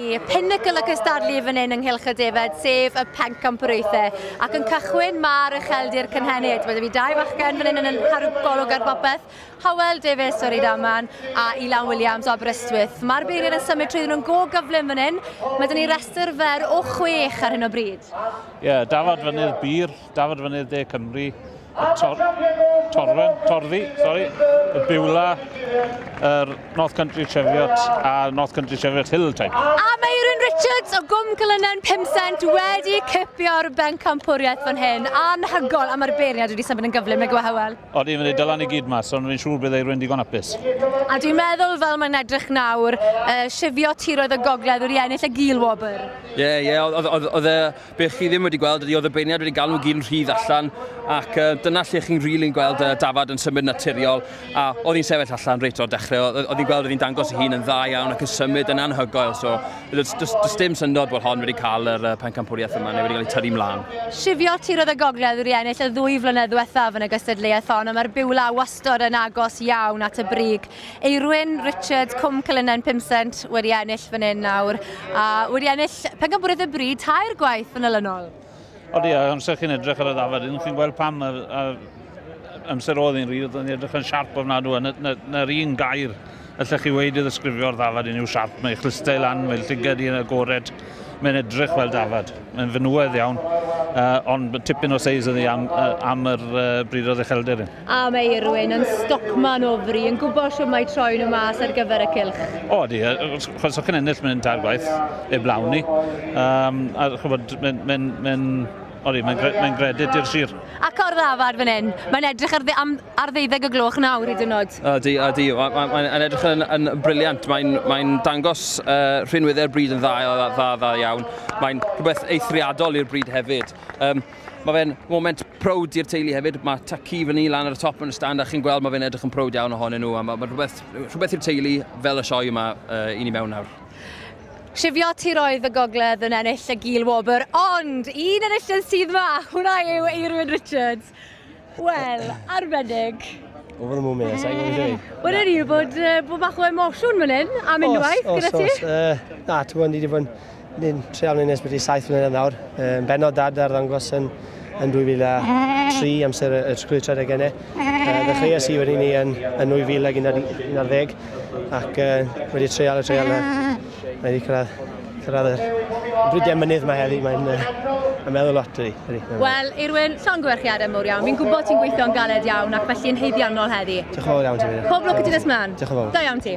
i pinnacle y cystadlu fan hyn yng Nghylch y Defed, sef y pencampwriaethau. Ac yn cychwyn mae'r ucheldir cynhenid. Mae 'da fi dau fachgen fan hyn yn cadw golwg ar bopeth. Hywel Davies o Rydaman a Ilan Williams o Aberystwyth. Mae'r beirniaid yn symud trwyddyn nhw'n go gyflym fan hyn. Mae 'da ni restr fer o chwech ar hyn o bryd. Ie, yeah, Dafad Fynydd Bir, Dafad Fynydd De Cymru, y tor, Torwen, Torddi, sorry, y Beulah, yr North Country Cheviot a North Country Cheviot Hill Type. A mae Erin Richards o Gwm Cylynen 5 cent wedi cipio'r bencampwriaeth fan hyn. Anhygoel, a mae'r beirniad wedi symud yn gyflym, nag yw e, Hywel? Odi, mae'n dylan i gyd mas, ond fi'n siŵr bydd Eirwyn digon hapus. A dwi'n meddwl fel mae'n edrych nawr, Cheviot Tiroedd y Gogledd wedi ennill y gil wobr. Ie, oedd e, beth chi ddim wedi gweld ydy oedd y beirniad wedi galw nhw gyd yn rhydd allan ac dyna lle chi'n rili'n gweld dafad yn symud naturiol a oedd hi'n sefyll allan reit o'r dechrau, oedd hi'n gweld oedd hi'n dangos ei hun yn dda iawn ac yn symud yn anhygoel, so does dim syndod bod hon wedi cael yr pencampwriaeth yma neu wedi cael ei tyrru mlaen. Cheviot Tiroedd y Gogledd wedi ennill y 2 flynedd ddiwethaf yn y gystadleuaeth hon, a mae'r Beulah wastod yn agos iawn at y brig. Eirwyn Richards, Cwm Cylynen 5 cent wedi ennill fan hyn nawr, a wedi ennill pencampwriaeth y brid tair gwaith yn olynol. Odi, a amser chi'n edrych ar y ddafad, chi'n gweld pam y amser oedd hi'n rhydd, oedd hi'n edrych yn siarp ofnadw, a na'r un gair allech chi weud i ddisgrifio'r ddafad un yw siarp. Mae chlustau lan, mae'n llygad i'n agored, mae'n edrych fel dafad. Mae'n fenywedd iawn, ond tipyn o seis ydi am yr bryd o ddechelder. A mae Eirwyn yn stockman o fri, yn gwybod shwt mae troi nhw mas ar gyfer y cylch. O, di, chos o'ch chi'n ennill mynd tair gwaith, eblaw ni. A chybod, mae'n Odi, mae'n gredit i'r sir. Ac o'r ddafad fan hyn, mae'n edrych ar 12 y gloch nawr hyd yn oed. Ydy, mae'n edrych yn brilliant. Mae'n dangos rhinweddau'r brid yn dda, dda, dda iawn. Mae'n rhywbeth eithriadol i'r brid hefyd. Mae fe'n moment proud i'r teulu hefyd. Mae tad-cu fyny lan ar y top yn y stand a chi'n gweld mae fe'n edrych yn proud iawn ohonyn nhw. A mae rhywbeth i'r teulu fel y sioe yma i ni mewn nawr. Cheviot Tiroedd y Gogledd yn ennill y gil wobr, ond un enillydd sydd yma, hwnna yw Eirwyn Richards. Wel, arbennig. Over the moon, mate, sa'n gwybod beth. Wel, ni bod bach o emosiwn fan hyn, am unwaith, gyda ti? Os, na, ti'n gwybod, ni wedi bod yn ni'n treial ni'n nes beth i 7 mlynedd nawr. Benod dad ar ddangos yn 2003 amser y trwy'r tredeg. Ddechreuais i wedyn ni yn 2011 ac wedi treial y treial na. Mae wedi cyrraedd y bridiau mynydd mae heddi, mae'n meddwl lot ydy. Wel, Eirwyn, llongyfarchiadau mawr iawn. Fi'n gwybod ti'n gweithio'n galed iawn ac felly'n haeddiannol heddi. Diolch yn fawr iawn ti. Pob lwc i ti nes mlaen. Diolch yn fawr. Da iawn ti.